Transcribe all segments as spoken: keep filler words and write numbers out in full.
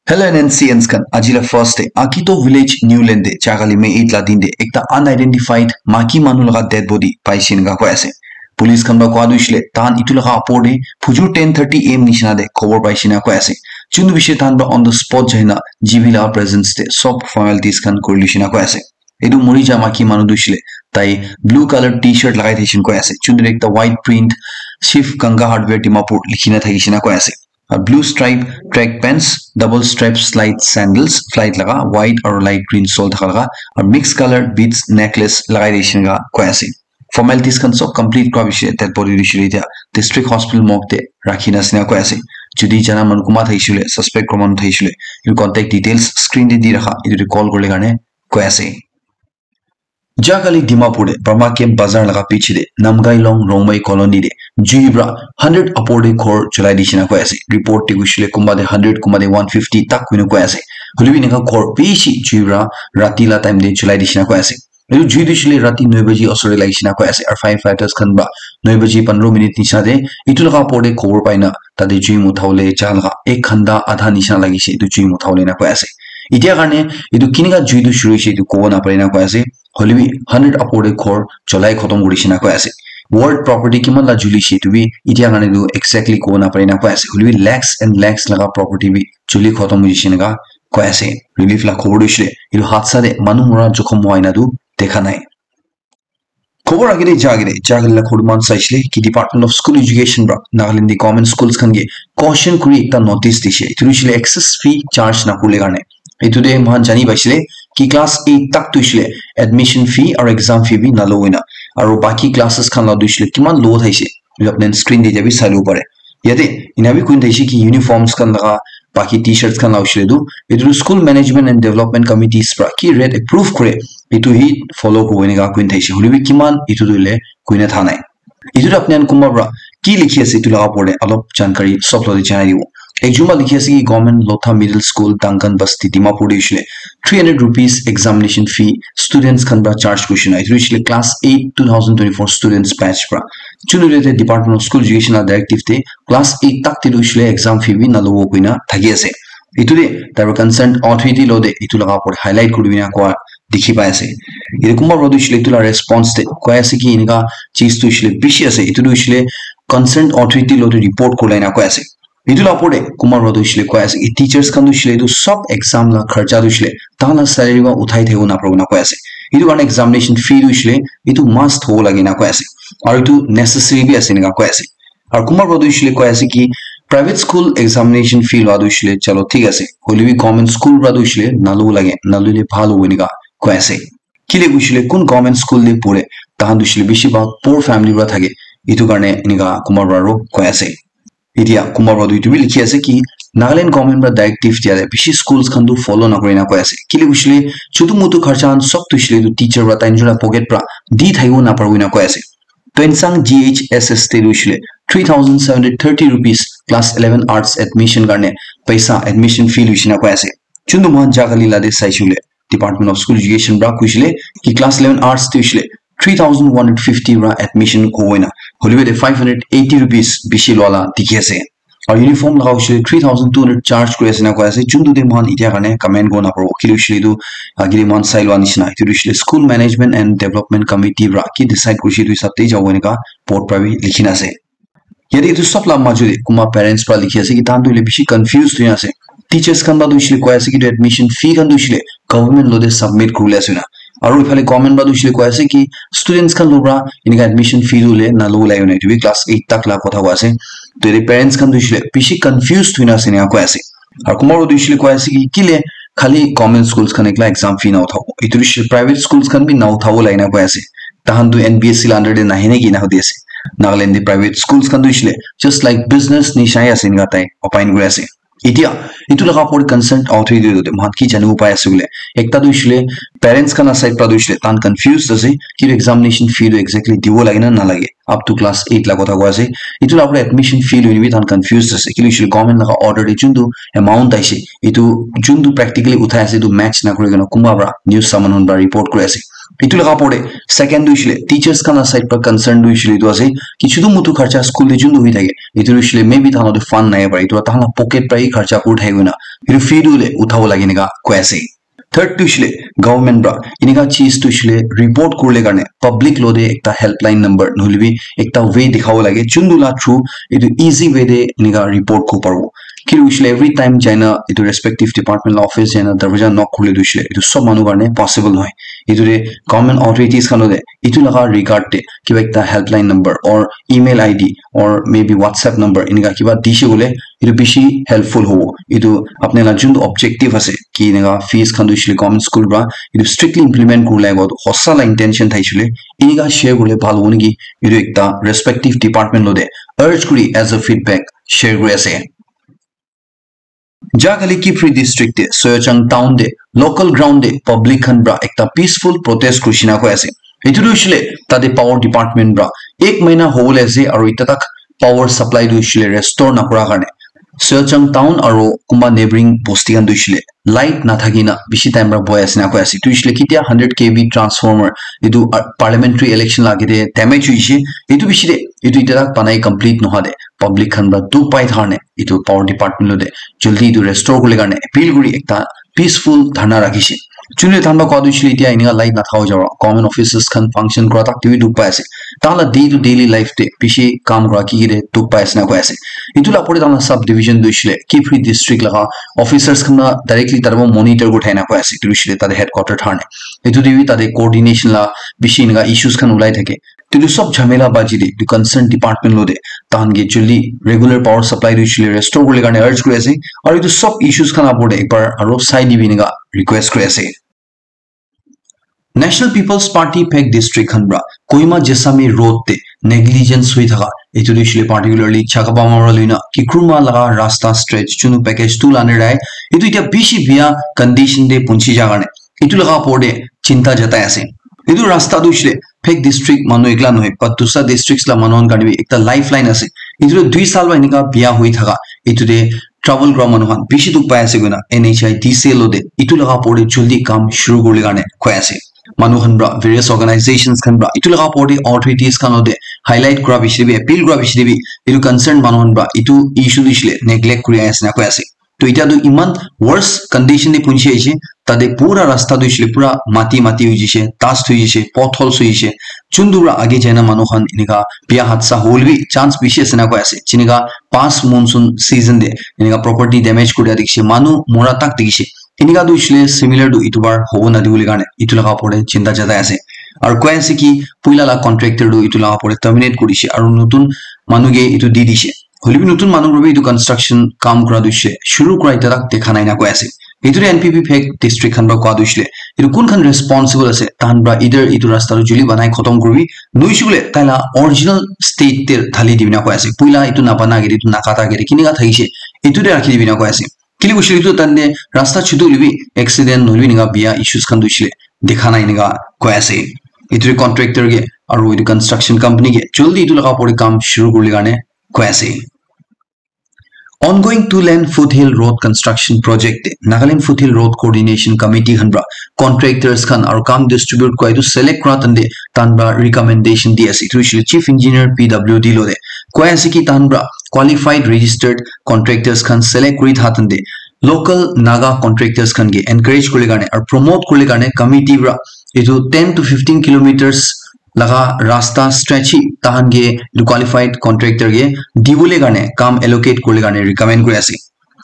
Hello N N C Ns khan, aji la first day, Akito Village, New Land te, jagali May eight la din te, ekta unidentified maki manu laga dead body paise enika koi ase. Police khan para koa tu hoishe le, tahan itu laga opor te, phujur ten thirty A M nishina te, khobor paise enika koi ase. Chundu bishe tahan para on the spot jaina, G B la presence te, sob formalities khan kuri lishe enika koi ase. Etu muri ja maki manu tu hoishe le, tai blue color T-shirt lagai thaishe enika koi ase. Chundu te ekta white print, Shiv Ganga Hardware Dimapur likhina thaishe enika koi ase. Aru blue stripe track pants, double stripe slide sandals, flight laga, white aru light green sole thaka laga, aru mixed color beads necklace lagai thaishe enika koi ase. Formalities khan sob complete kura bishe, dead body tu hoishe le etia district hospital morgue te rakhina ase enika koi ase. Jodi jana manu kunba thaishe le, suspect kunba manu thaishe le, etu contact details screen te di rakha, etu te call kurle karne koi ase. Jagali Dimapur te Burma Camp Bazar laga piche te Namgailong Rongmei Colony te jui para hundred upor te ghor cholai dishe enika koi ase. Report te hoishe le kunba te hundred, kunba te one fifty tak koina koi ase. Hoile bi enika ghor bishi jui para rati la time te cholai dishe enika koi ase. Etu jui tu hoishe le rati nine baji osor te lagishe enika koi ase. Aru firefighters khan para nine baji pondro minute nishina te etu laga opor te khobor paina tate jui mutha bole ja laga ek ghanta adha nishina lagishe etu jui mutha bole enika koi ase. Etia karne etu kenika jui tu shuru hoishe etu kobo napare enika koi ase. Hoile bi hundred upor te ghor cholai khotom kurishe enika koi ase. World property kiman la julishe etu bi etia karne etu exactly kobo napare enika koi ase. Hoile bi lakhs and lakhs laga property bi juli khotom hoishe enika koi ase. Relief la khobor tu hoishe le etu hadsa te manu mora jokhom hua ena tu dekha nai. Khobor agete ja agete jagali la khobor man saishe le ki Department of School Education para Nagaland te government schools khan ke caution kuri ekta notice dishe. Etu hoishe le excess fee charge nakurle karne. Etu te moikhan jani paishe le ki class eight tak tu hoishe le admission fee aru exam fee bi nalo hoina. Aru baki classes khan la tu hoishe le kiman low thaishe. Etu apni screen te jabi sai lo pare. Yate ena bi koi thaishe ki uniforms khan laga, baki T-shirts khan la hoishe le tu, etu tu school management and development committees para ki rate approve kore, etu hi follow kore enika koi thaishe. Hoile bi kiman etu tu le koina tha nai. Etu tu apni khan kunba para ki likhi ase etu laga opor te alop jankari sob logote janai dibo. Ekjon para likhi ase ki Government Lotha Middle School, Dankan Basti, Dimapur te hoishe le three hundred rupees examination fee students khan para charge kurishe na. Etu hoishe le class eight two thousand twenty-four students batch para. Chunu te Department of School Education la directive te class eight tak te tu hoishe le exam fee bi nalobo koina thaki ase. Etu te tai para concerned authority lo te etu laga opor highlight kuri kena koa dikhi pai ase. Etu kunba para tu hoishe le etu la response te koi ase ki enika cheez tu hoishe le bishi ase. Etu tu hoishe le concerned authority lo te report kuri la ena koi ase. Etu la opor te kunba para tu hoishe le koi ase ki teachers khan tu hoishe le etu sob exam la kharcha tu hoishe le tahan la salary para uthai thaki bo napare koina koi ase. Etu karne examination fee tu hoishe le etu must hobo lage ena koi ase. Aru etu necessary bi ase enika koi ase. Aru kunba para tu hoishe le koi ase ki private school examination fee lua tu hoishe le chalo thik ase. Hoile bi government school para tu hoishe le nalo lage, naloile bhal hobo enika koi ase. Kile hoishe le kun government school te pore, tahan tu hoishe le bishi bhag poor family para thake. Etu karne enika kunba para aro koi ase. Etia kunba para tu etu bi likhi ase ki Nagaland government para directive dia te bishi schools khan tu follow nakuri na koi ase. Kile hoishe le chutu mutu kharcha khan sob tu hoishe le etu teacher para tai nijor la pocket para di thaki bo napare koina koi ase. Tuensang G H S S te tu hoishe le three thousand seven hundred thirty rupees class eleven arts admission karne paisa admission fee luishe na koi ase. Chundu moikhan jagali la te saishe le Department of School Education para koishe le ki class eleven arts te hoishe le three thousand one hundred fifty para admission hobo ena. Hoile bi te five hundred eighty rupees bishi lua la dikhi ase. Aru uniform laga hoishe le three thousand two hundred charge kuri ase na koi ase. Chundu te moikhan etia karne comment kuri napare. Kile hoishe le etu agile moikhan sai lua nishina. Etu hoishe le School Management and Development Committee para ki decide kurishe etu hisab te jabo enika board para bi likhi na ase. Yate etu sob la majo te kunba parents para likhi ase ki tahan tu hoile bishi confused hoi ase. Teachers khan para tu hoishe le koi ase ki etu admission fee khan tu hoishe le government lo te submit kuribole ase na. Aru ephale government para tu hoishe le koi ase ki students khan lo para enika admission fee tu hoile nalo ulai na, etu bi class eight tak la kotha koi ase. To yate parents khan tu hoishe le bishi confused hoi na ase enika koi ase. Aru kunba para tu hoishe le koi ase ki kile khali government schools khan ekla exam fee na uthabo, etu hoishe le private schools khan bi na uthabo lage na koi ase. Tahan tu N B S C la under te nahe naki ena hudi ase. Nagaland te private schools khan tu hoishe le just like business nishina ase enika tai opine kuri ase. Etia etu laga opor te concerned authority te moikhan ki janibo pai ase koile, ekta tu hoishe le parents khan la side para tu hoishe le tahan confused ase ki examination fee tu exactly dibo lage na nalage, up to class eight la kotha koi ase. Etu la opor te admission fee loi na bi tahan confused ase, kile hoishe le government laga order te juntu amount aise, etu juntu practically uthai ase, etu match nakuri kena kunba para news saman khan para report kuri ase. Itu laga opor te second tu hoishe le teachers khan la side pra concern tu hoishe le itu ase ki chutu mutu kharcha school te juntu hoi thake, itu tu hoishe le maybe tahan la tu fund nai para itu tahan la pocket pra hi kharcha kuri thake koina itu fee tu le uthabo lage enika koi ase. Third tu hoishe le government pra enika cheez tu hoishe le report kurle karne public lo te ekta helpline number nohole bi ekta way dikhabo lage, juntu la through itu easy way te enika report kuri paribo. Ki hoishe le every time jaina itu respective department la office jaina darwaja knock kurle tu hoishe le itu sob manu karne possible nohoi. Itu te government authorities khan lo te itu laga regard te kiba ekta helpline number or email I D or maybe WhatsApp number enika kiba dishe koile itu bishi helpful hobo. Itu apni la juntu objective ase ki enika fees khan tu hoishe le government school pra itu strictly implement kurle ago hosa la intention thaishe le enika share kurle bhal hobo niki, itu ekta respective department lo te urge kuri as a feedback share kuri ase. Ja kali Kiphire district te Soyachang town te local ground te public khan pra ekta peaceful protest kurishina koi ase. Itu tu hoishe le tate power department pra ek mahina hobole ase aru ita tak power supply tu hoishe le restore nakura karne Soyachang town aru kumba neighboring bosti khan tu hoishe le light nathaki na bishi time pra bohi ase na koi ase. Tu hoishe le ketia hundred K V transformer itu, ah, parliamentary election la age te damage hoishe. Itu bishi te itu ita tak banai complete noha te public khan pra dukh pai thakane itu power department lo te jaldi itu restore kurle karne appeal kuri ekta peaceful dharna rakhishe. Chule than ba koi tu hoishe le etia enika light nathaka jabo government offices khan function kura tak te bi dukh pai ase. Tahan la day to daily life te bishi kam kura ki ki te dukh pai ase na koi ase. Itu la opor te tahan la sub division tu hoishe le Kiphire district laga officers khan la directly tate monitor kuri thakina koi ase. Itu hoishe le tate headquarter thane itu te bi tate coordination la bishi enika issues khan ulai thake. Itu sob jhamela baji de itu concern department lo te tahan ke jaldi regular power supply tu hoishe le restore kurle karne urge kuri ase. Aru itu sob issues khan opor te ekbar aru sai dibi enika request kuri ase. National People's Party Phek district khan pra Kohima Jessami road te negligence hui thaka itu tu hoishe le particularly Chakabama pra luina Kikruma laga rasta stretch chunu package tu la under te itu etia bishi bia condition te punchi ja karne itu laga opor te chinta jatai ase. Itu rasta tu hoishe le Phek district manu ekla nohoi, but dusra districts la manu khan karne bi ekta lifeline ase. Itu tu dui saal pra enika bia hoi thaka, itu te travel kura manu khan bishi dukh pai ase koina N H I D C lo te itu laga opor te jaldi kam shuru kurle karne koi ase. Manu khan pra various organizations khan pra itu laga opor te authorities khan lo te highlight kura bishi te bi appeal kura bishi te bi itu concern manu khan pra itu issue tu hoishe le neglect kuri ase na koi ase. To etia tu iman worse condition te punchi aise, tate pura rasta tu hoishe le pura mati mati hoi jishe, dust hoi jishe, potholes hoi jishe. Chundu pra age jaina manu khan enika bia hadsa hole bi chance bishi ase na koi ase. Jinika past monsoon season te enika property damage kuri dia dikhishe, manu mora tak dikhishe. Enika tu hoishe le similar tu itu bar hobo nadi bole karne itu laga opor te chinta jatai ase. Aru koi ase ki puila la contractor tu itu laga opor te terminate kuri dishe aru notun manu ke itu di dishe. Hoilebi notun manu para bi etu construction kam kura tu hoishe, shuru kura etia tak dekha nai na koi ase. Etu tu N P P Phek district khan para kua tu hoishe, etu kun khan responsible ase, tahan para either etu rasta tu juli banai khotom kuribi, nohoishe koile tai la original state te dhali dibi na koi ase. Puila etu nabana agete, etu nakata agete, kinika thakishe, etu te rakhi dibi na koi ase. Kile hoishe etu tante rasta chutu hoilebi accident nohoilebi enika biya issues khan tu hoishe dekha nai enika koi ase. Etu contractor ke aru etu construction company ke jaldi etu laga opor te kam shuru kuribole karne koi ase. Ongoing two lane foothill road construction project te Nagaland Foothill Road Coordination Committee khan para contractors khan aru kam distribute kura etu select kura tante tan para recommendation di ase. Etu hoishe Chief Engineer P W D lo te koi ase ki tan para qualified registered contractors khan select kuri tha tante local Naga contractors khan ke encourage kuribole karne aru promote kuribole karne committee para etu ten to fifteen kilometers laga rasta stretch hi tahan ke etu qualified contractor ke dibole karne kam allocate kuribole karne recommend kuri ase.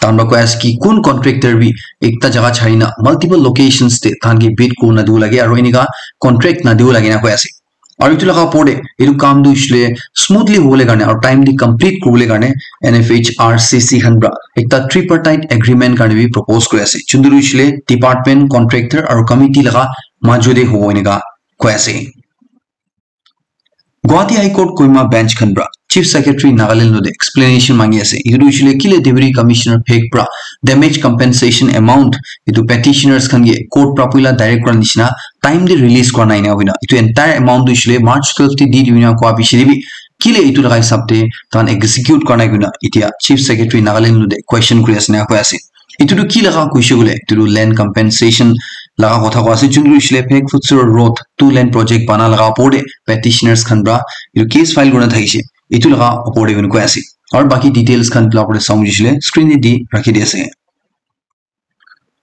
Tahan para koi ase ki kun contractor bi ekta jaga chari na multiple locations te tahan ke bid kuri na dibo lage aru enika contract na dibo lage na koi ase. Aru etu laga opor te etu kam tu hoishe smoothly hobole karne aru timely complete kuribole karne N F H R C C khan para ekta tripartite agreement karne bi propose kuri ase. Chuntu hoishe department, contractor aru committee laga majo te hobo enika koi ase. Guwahati High Court Kohima Bench khan para Chief Secretary Nagaland lo te explanation mangi ase. Etu tu hoishe kile Deputy Commissioner Phek para damage compensation amount etu petitioners khan ke court para puila direct kura nishina time te release kura nai na hoina. Etu entire amount tu hoishe March twelve te di dibi na kua bishi te bi kile etu laga hisab te tahan execute kura nai koina etia Chief Secretary Nagaland lo te question kuri ase na koi ase. Etu tu ki laga koishe koile, etu tu land compensation laga kotha koi ase, juntu hoishe le Phek Futsur Road two lane project bana laga opor te petitioners khan pra etu case file kurina thakishe, etu laga opor te koi ase. Aru baki details khan etu la opor te sawo hoishe le screen te di rakhi di ase.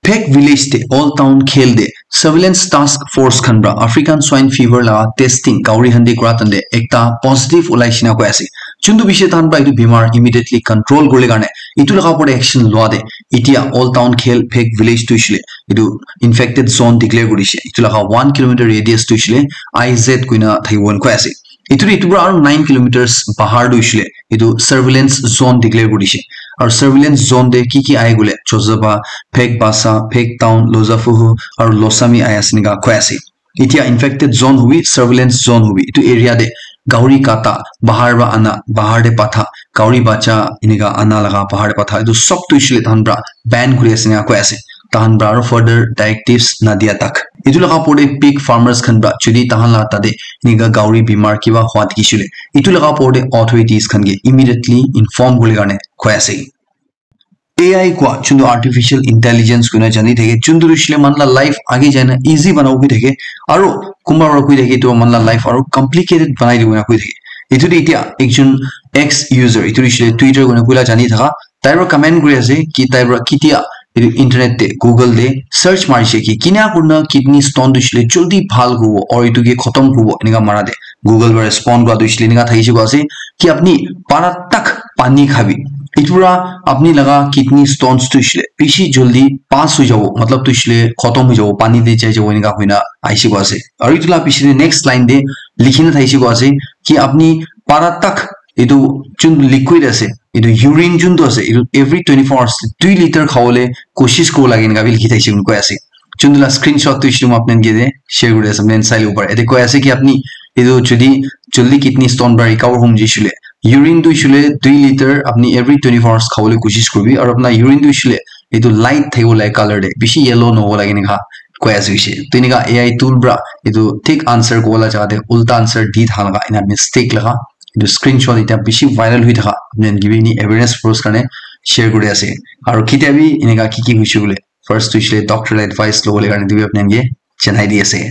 Phek village te Old Town Khel te surveillance task force khan pra African swine fever laga testing gauri khan te kura tante ekta positive ulai shina koi ase. Juntu bishi tahan pra etu bimar immediately control kurle karne etu laga opor te action lua te etia Old Town Khel Phek village tu hoishe le etu infected zone declare kuri dishe. Etu laga one kilometer radius tu hoishe le I Z koina thakibo koi ase. Etu etu pra aru nine kilometers bahar tu hoishe le etu surveillance zone declare kuri dishe. Aru surveillance zone te ki ki ahi koile Chozaba, Phek Basa, Phek Town, Lozafuhu aru Losami ahi ase enika koi ase. Etia infected zone hobi, surveillance zone hobi, etu area te gauri kata, bahar pra ana, bahar te patha, gauri bacha enika ana laga bahar te patha, etu sob tu hoishe le tahan pra ban kuri ase enika koi ase. Tahan pra aru further directives nadia tak. Etu laga opor te pig farmers khan pra jodi tahan la tate enika gauri bimar kiba hua dikhishe le, etu laga opor te authorities khan ke immediately inform kurle karne koi ase. A I kua juntu artificial intelligence koina jani thake, juntu hoishe le manu la life age jaina easy banabo koi thake, aru kunba para koi thake etu manu la life aru complicated banai dibo koina koi thake. Etu te etia ekjon ex user, etu hoishe le Twitter koina koila jani thaka, tai para comment kuri ase ki tai para ketia etu internet te, Google te search marishe ki kina kurina kidney stone tu hoishe le joldi bhal kuribo aru etu ke khotom kuribo enika mara te Google para respond kura tu hoishe le enika thakishe koi ase ki apni para tak pani khabi. Etu para apni laga kidney stones tu hoishe le bishi joldi pass hoi jabo, matlab tu hoishe le khotom hoi jabo, pani te jai jabo enika hoina ahishe koi ase. Aru etu la piche te next line te likhina thakishe koi ase ki apni para tak etu juntu liquid ase, etu urine juntu ase, etu every twenty four hours te dui liter khabole koshish kuribo lage enika bi likhi thakishe koi ase. Juntu la screenshot tu hoishe le moi apni khan ke share kuri ase, apni khan sai lobo pare. Ete koi ase ki apni etu jodi joldi kidney stone para recover hom jai shey le, urine tu hoishe le dui liter apni every twenty four hours khabole koshish kuribi, aru apna urine tu hoishe le etu light thakibo lage color te, bishi yellow nahobo lage enika koi ase hoishe. To enika A I tool para etu thik answer kobo la jaga te ulta answer di thaka laga ena mistake laga etu screenshot eta bishi viral hoi thaka apni khan ke bi eni awareness purpose karne share kuri ase. Aru ketia bi enika ki ki hoishe koile first tu hoishe le doctor la advice lobole karne etu bi apni khan ke janai di ase.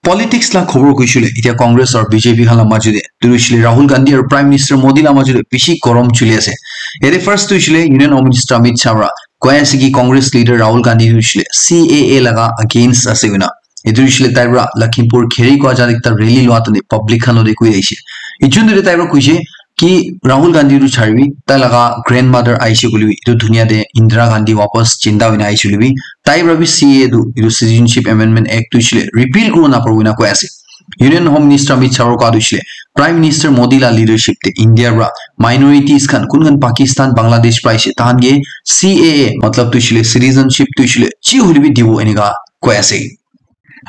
Politics la khobor koishe le, etia Congress aru B J P khan la majo te, tu hoishe le Rahul Gandhi aru Prime Minister Modi la majo te bishi gorom chuli ase. Yate first tu hoishe le Union Home Minister Amit Shah para koi ase ki Congress leader Rahul Gandhi tu hoishe le C A A laga against ase koina. Etu hoishe le tai para Lakhimpur Kheri kua jaga ekta rally lua tane public khan lote koi ahishe. Ejun tu tai para koishe, ki Rahul Gandhi tu charibi, tai laga grandmother ahishe koile bi, etu dunia te Indira Gandhi wapas jinda hoina ahishe koile bi, tai para bi C A A tu, etu Citizenship Amendment Act tu hoishe le repeal kuribo naparibo koina koi ase. Union Home Minister Amit Shah para koa tu hoishe le, Prime Minister Modi la leadership te India para minorities khan, kun khan Pakistan, Bangladesh para ahishe, tahan ke C A A, matlab tu hoishe le, citizenship tu hoishe le, chi hoile bi dibo enika koi ase.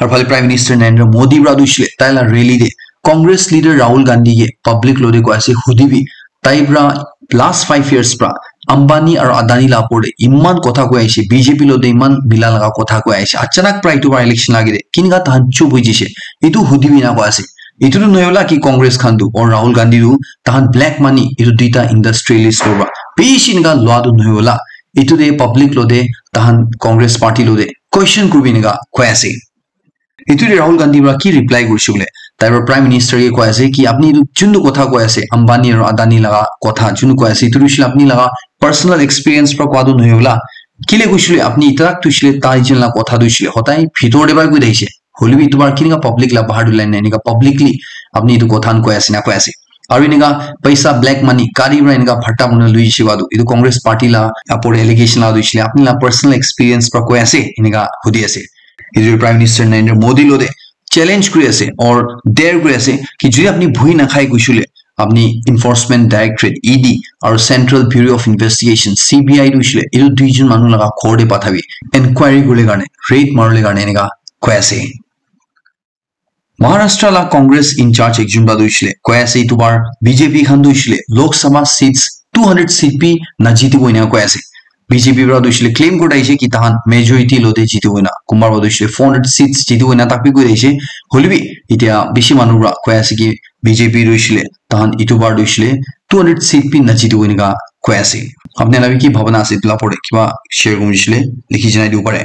Aru phale Prime Minister Narendra Modi para tu hoishe le, tai la rally te Congress leader Rahul Gandhi ke public lote koi ase, hudibi, tai para last five years para Ambani aru Adani la opor te iman kotha koi ahishe, B J P lote iman mila laga kotha koi ahishe, achanak para etu para election lage de kinika tahan chup hoi jishe, etu hudibi ena koi ase. Etu tu nohoi bola ki Congress khan tu aru Rahul Gandhi tu tahan black money etu duita industrialist loba bishi enika lua tu nohoi bola, etu te public lote tahan Congress party lote question kuribi enika koi ase. Etu te Rahul Gandhi para ki reply kurishe koile, tai para Prime Minister ke koi ase ki apni etu juntu kotha koi ase, Ambani aru Adani laga kotha juntu koi ase, etu hoishe le apni laga personal experience para koa tu nohoi bola. Kile koishe le apni itarak tu hoishe le tai jen la kotha tu hoishe le hodai bhitor te para koi thakishe. Hoile bi etu para kinika public la bahar tu line nai, enika publicly apni etu kotha khan koi ase na koi ase. Aru enika paisa, black money, gari para enika bhatta mona lui jishe koa tu, etu Congress party la opor te allegation la tu hoishe le apni la personal experience para koi ase enika hudi ase. Etu Prime Minister Narendra Modi lote challenge kuri ase or dare kuri ase ki jodi apni bhui nakhai koishe le apni Enforcement Directorate, E D, aru Central Bureau of Investigation, C B I tu hoishe le etu duijon manu laga ghor te pathabi, inquiry kuribole karne, raid maribole karne enika koi ase. Maharashtra la Congress in charge ekjon para tu hoishe le koi ase, etu bar B J P khan tu hoishe le Lok Sabha seats two hundred seat bi najitibo ena koi ase. B J P para tu hoishe le claim kuri ahishe ki tahan majority lote jitibo ena, kunba para tu hoishe le four hundred seats jitibo ena tak bi koi ahishe. Hoile bi etia bishi manu para koi ase ki B J P tu hoishe le tahan etu bar tu hoishe le two hundred seat bi najitibo enika koi ase. Apni khan la bi ki bhabana ase etu la opor te, kiba share kuribo hoishe le likhi janai dibo pare.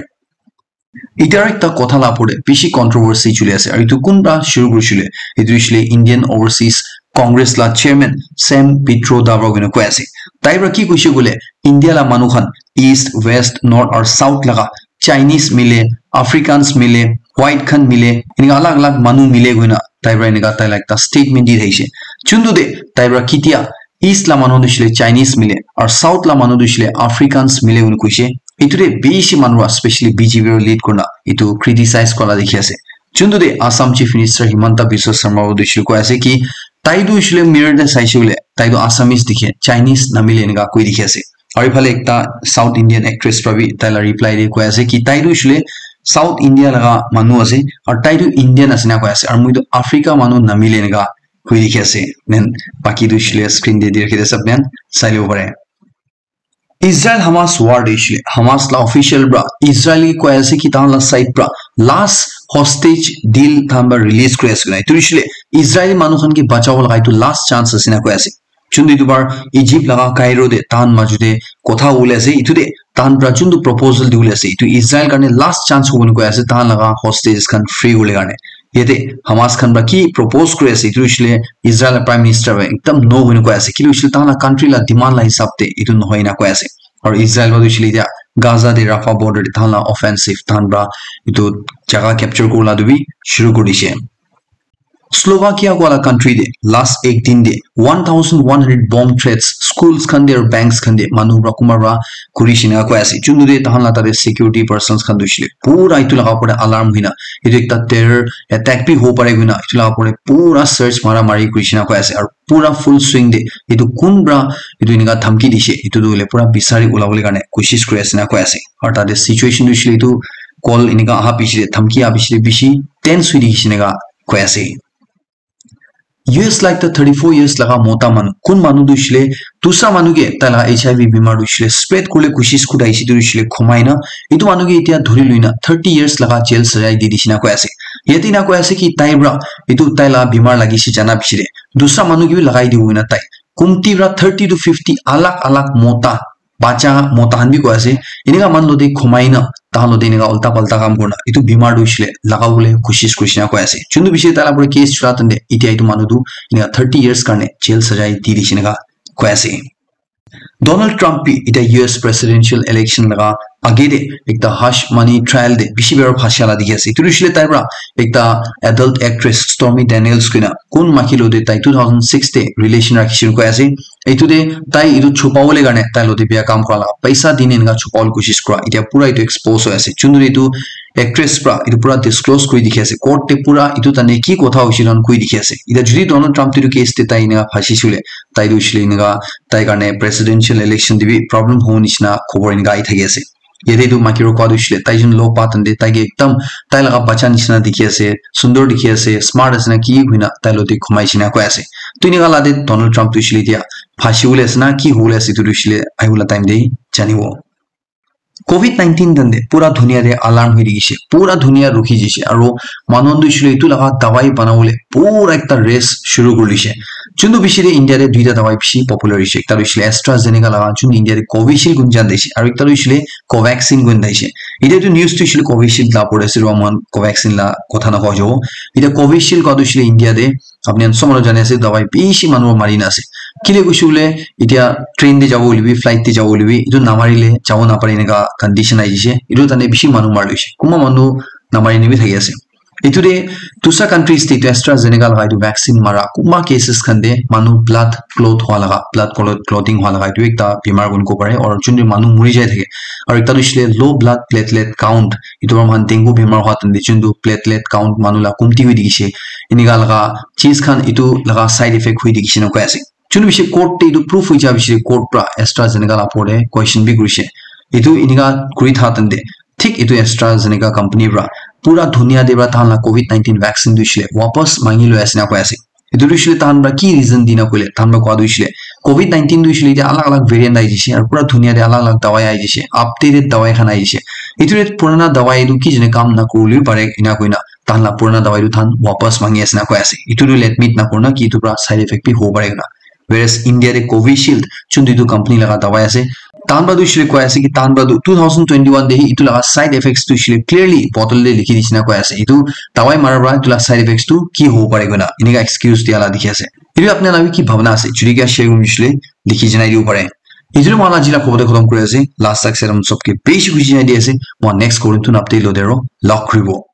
Itya ekta kotha la opor te bishi controversy chuli ase, aru etu kunba shuru kurishile, etu hoishile Indian Overseas Congress la chairman Sam Pitroda para koina koi ase. Tai para ki koishe koile, India la manu khan East, West, North aru South laga Chinese mile, Africans mile, white khan mile, enika alag alag manu mile koina tai para enika tai la ekta statement di thaishe. Chuntu de tai para kitia East la manu tu shile Chinese mile, aru South la manu tu shile Africans mile koina koishe. Etu de bishi manu para, specially B J P para lead kurna etu criticize kora la dikhi ase. Chuntu de Assam Chief Minister Himanta Biswa Sarma tu shile koi ase ki tai tu shile mirror de saishe koile tai tu Assamese dikhe, Chinese namile enika koi dikhi ase. Aru ephale ekta South Indian actress para bi tai la reply de koi ase ki tai tu hoishile South India laga manu ase, aru tai tu Indian ase na koi ase, aru moi tu Africa manu namile enika koi dikhi ase. Then baki tu hoishile screen de di rakhi de sab then sai lobo pare. Israel Hamas war de hoishile Hamas la official para Israel ke koi ase ki tahan la side para last hostage deal tahan para release kuri ase koina. Etu hoishile Israel manu khan ke bachabo laga etu last chance ase na koi ase. Chuntu etu bar Egypt laga Cairo de tahan maju de kotha hobole ase, etu de tahan para chuntu proposal dibole ase, etu Israel karne last chance hobo koi ase, tahan laga hostages khan free hobole karne. Yate Hamas khan para ki propose kuri ase, etu hoishile Israel Prime Minister para ekdam no hoina koi ase, kile hoishile tahan la country la demand la hisab de etu nohoi na koi ase. Aru Israel para hoishile etia Gaza de Rafah border de tahan la offensive tahan para etu jaga capture kuri la tu bi shuru kuri dishe. Slovakia wala country de last ek din de one thousand one hundred bomb threats schools khan de aru banks khan de manu para kunba para kuri shina koi ase. Chuntu de tahan la tate security persons khan tu hoishile pura etu laga opor de alarm hoina etu ekta terror attack bi hobo pare koina etu laga opor de pura search mara mari kuri shina koi ase. Aru pura full swing de etu kun para etu enika dhamki dishe etu tu hoile pura bisari ulabole karne koshish kuri ase na koi ase. Aru tate situation tu hoishile etu call enika aha piche de dhamki aha piche de bishi tense hoi dikhi shina koi ase. U S la ekta thirty-four years laga mota manu, kun manu tu hoishile dusra manu ke tai laga H I V bimar tu hoishile spread kuribole koshish kuri thakishe tu hoishile khumai na, etu manu ke etia dhuri lui na thirty years laga jail sajai di dishe na koi ase. Yate na koi ase ki tai para etu tai laga bimar lagishe jana piche de dusra manu ke bi lagai dibo koina tai kumti para thirty to fifty alag alag mota bacha mota khan bi koi ase, enika manu logote khumai na tahan logote enika ulta palta kam kurina etu bimar tu hoishile lagabole koshish kurishe na koi ase. Chuntu bishi tai la pore case chula tante etia etu manu tu enika thirty years karne jail sajai di dishe enika koi ase. Donald Trump bi etia U S presidential election laga age te ekta hush money trial te bishi biya phasha la dikhi ase. Etu hoishile tai para ekta adult actress Stormy Daniels koina kun maiki logote tai two thousand six te relation rakhishe koi ase. Etu te tai etu chupabole karne tai logote biya kam kura la paisa dine enika chupabole koshish kura, etia pura etu expose hoi ase. Chuntu etu actress para etu pura disclose kuri dikhi ase, court te pura etu tane ki kotha hoishe etu khan koi dikhi ase. Etia jodi Donald Trump te etu case te tai enika phasishe hoile tai tu hoishile enika tai karne presidential election te bi problem hobo nishina khobor enika ahi thaki ase. Yate tu maiki para kua tu hoishile tai jun log pa tante tai ke ekdam tai laga bacha nishina dikhi ase, sundor dikhi ase, smart ase na ki koina tai logote khumai shina koi ase. Tu enika la te Donald Trump tu hoishile etia phasibole ase na ki hobole ase etu tu hoishile ahibola time te janibo. Covid nineteen tante pura dunia te alarm hoi dikhi she, pura dunia rukhi jishe, aru manu khan tu hoishile etu laga dawai banabole pura ekta race shuru kuri dishe. Chuntu bishi te India te duita dawai bishi popular hoishe, ekta tu hoishile AstraZeneca laga, chuntu India te Covishield koi jana dishe, aru ekta tu hoishile Covaxin koi jana dishe. Etia tu news tu hoishile Covishield la pore ase, aru moi khan Covaxin la kotha na koi jabo. Etia Covishield koi tu hoishile India te apni khan sob manu jani ase, dawai bishi manu mari na ase. Kile koishe koile, etia train te jabo hoile bi, flight te jabo hoile bi, etu namari le jabo napare enika condition ahi jishe. Etu tane bishi manu mari loishe. Kunba manu namari ne bi thaki ase. Etu te dusra countries te etu AstraZeneca laga etu vaccine mara, kunba cases khan te manu blood clot hua laga, blood clot, clotting hua laga etu ekta bimar koi kena kobo pare, aru jun te manu muri jai thake. Aru ekta tu hoishe le low blood platelet count, etu para moikhan dengue bimar hua time te jun tu platelet count manu la komti hoi thakishe, enika laga cheez khan etu laga side effect hoi thakishe na koi ase. Jun tu bishi court te etu proof hoi ja bishi court para AstraZeneca la opor te question bi kurishe. Etu enika kuri tha time te thik etu AstraZeneca company para pura dunia te para tahan la covid nineteen vaccine tu hoishe le wapas mangi loi ase na koi ase. Etu tu hoishe le tahan para ki reason dina koile, tahan para koa tu hoishe le covid nineteen tu hoishe le etia alag alag variant ahi jaishe, aru pura dunia te alag alag dawai ahi jaishe, updated dawai khan ahi jaishe. Etu te purana dawai tu ki jane kam na kuribo pare, ena koina tahan la purana dawai tu tahan wapas mangi ase na koi ase. Etu tu admit na kurina ki etu para side effect bi hobo pare koina. Whereas India te Covishield, jun tu etu company laga dawai ase, Tan pra tu shile koi ase ki tan pra tu two thousand twenty-one de hi itu laga side effects tu shile clearly bottle de likhi dishina koi ase. Itu dawai mara pra itu la side effects tu ki hobo pare koina. Inika excuse dia la dikhi ase. Itu apni la ki bhabna ase. Jodi kya share kuri shile likhi janai dibo pare. Itu moi la jila khobo de khotom kuri ase. Last tak seram sob ke beshi khushi janai di ase. Moi next korin tu update lo de ro. Log kuri bo.